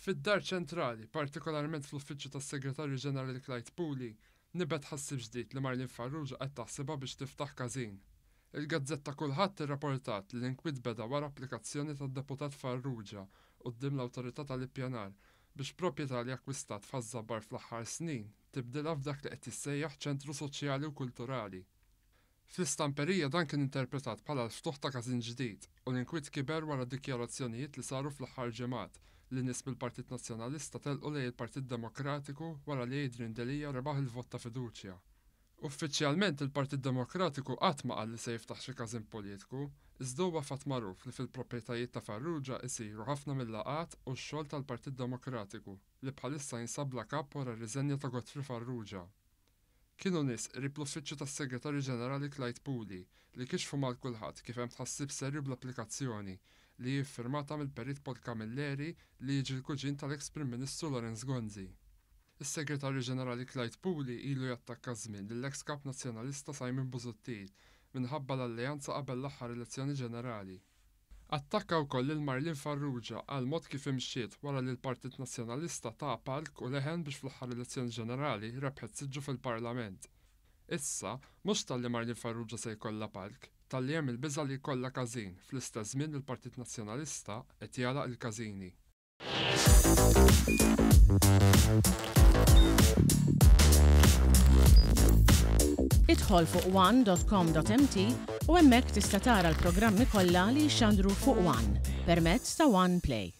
Fid-Dar Ċentrali, partikolarment fl-Uffiċċju tas-Segretarju Ġenerali Clyde Puli, nibet tħassib ġdid li Marlene Farrugia qed taħsibha biex tiftaħ każin. Il-gazzetta Kullħadd irraportat li l-inkwiet beda wara applikazzjoni tad-Deputat Farrugia quddiem l-Awtorità tal-Ippjanar biex proprjetà li akkwistat f'Ħaż-Żabbar fl-aħħar snin tibdilha f'dak li qed jissejjaħ ċentru soċjali u kulturali. Fl-istamperija dan kien interpretat bħala l-ftuħ ta' każin ġdid u l-inkwiet kiber wara dikjarazzjonijiet li saru fl-aħħar ġimgħat li nies mill-Partit Nazzjonalista telqu lejn il-Partit Demokratiku wara li Adrian Delia rebaħ il-vot ta' fiduċja. Uffiċjalment il-Partit Demokratiku qatt ma qal li se jiftaħ xi każin politiku, iżda huwa fatt magħruf li fil-proprjetajiet ta' Farrugia isiru ħafna mil-laqgħat u x-xogħol tal-Partit Demokratiku li bħalissa jinsab bla kap wara r-riżenja ta' Godfrey Farrugia. Kienu nies qrib l-Uffiċċju tas-Segretarju Ġenerali Clyde Puli li kixfu mal-kulħadd kif hemm tħassib serju bl-applikazzjoni, li hi ffirmata mill-Perit Paul Camilleri li jiġi l-kuġin tal-eks Prim Ministru Lawrence Gonzi. Is-Segretarju Ġenerali Clyde Puli ilu jattakka żmien lill-eks Kap Nazzjonalista Simon Busuttil minħabba l-alleanza qabel l-aħħar elezzjoni ġenerali. Attakka wkoll lil Marlene Farrugia għall-mod kif imxiet wara li l-Partit Nazzjonalista taha palk u leħen biex fl-aħħar elezzjoni ġenerali rebħet siġġu fil-Parlament. Issa, mhux talli Marlene Farrugia se jkollha palk, talli hemm il-biża' li jkollha każin fl-istess żmien li l-Partit Nazzjonalista qed jagħlaq il-każini. Idħol fuq one.com.mt u hemmhekk tista' tara l-programmi kollha li jixxandru fuq One permezz ta' One Play.